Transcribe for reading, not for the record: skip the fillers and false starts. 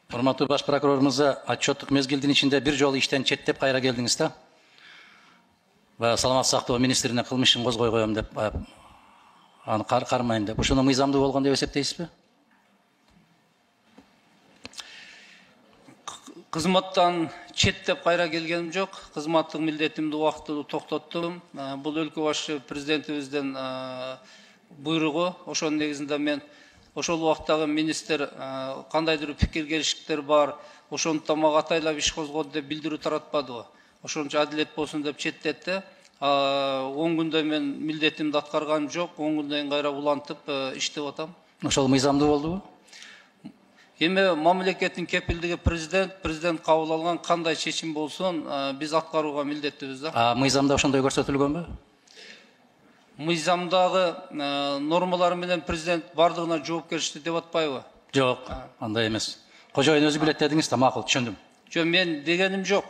Урматтуу баш прокурор мырза, отчеттик мезгилдин ичинде бир жолу иштен четтеп кайра келдиңиз да? Саламаттык сактоо министрине кылмыш ишин козгой коем деп, аны кармайм деп. Ошону мыйзамдуу болгон деп эсептейсизби? Кызматтан четтеп кайра келгеним жок. Кызматтык милдетимди убактылуу токтоттум. Бул өлкө башы президентибиздин буйругу. Ошонун негизинде мен ошол убактагы министр кандайдыр пикир келиштиктер бар, ошондуктан мага атайлап иш козгоду деп билдирүү таратпадыбы? Ошончо адилет болсун деп четтетти. 10 күндө мен милдетимди аткарганым жок. 10 күндөн кийин кайра улантып иштеп атам. Ошол мыйзамдуу болдубу? Эми мамлекеттин кепилдиги президент кабыл алган кандай чечим болсун, биз аткарууга милдеттибиз да. Мыйзамда ошондой көрсөтүлгөнбү? Мыйзамдагы нормалар менен президент бардыгына жоопкерчилик деп атпайбы? Жок, андай эмес. Кожоюн өзү билет дедиңиз да, макул, түшүндүм. Жок, мен дегеним жок.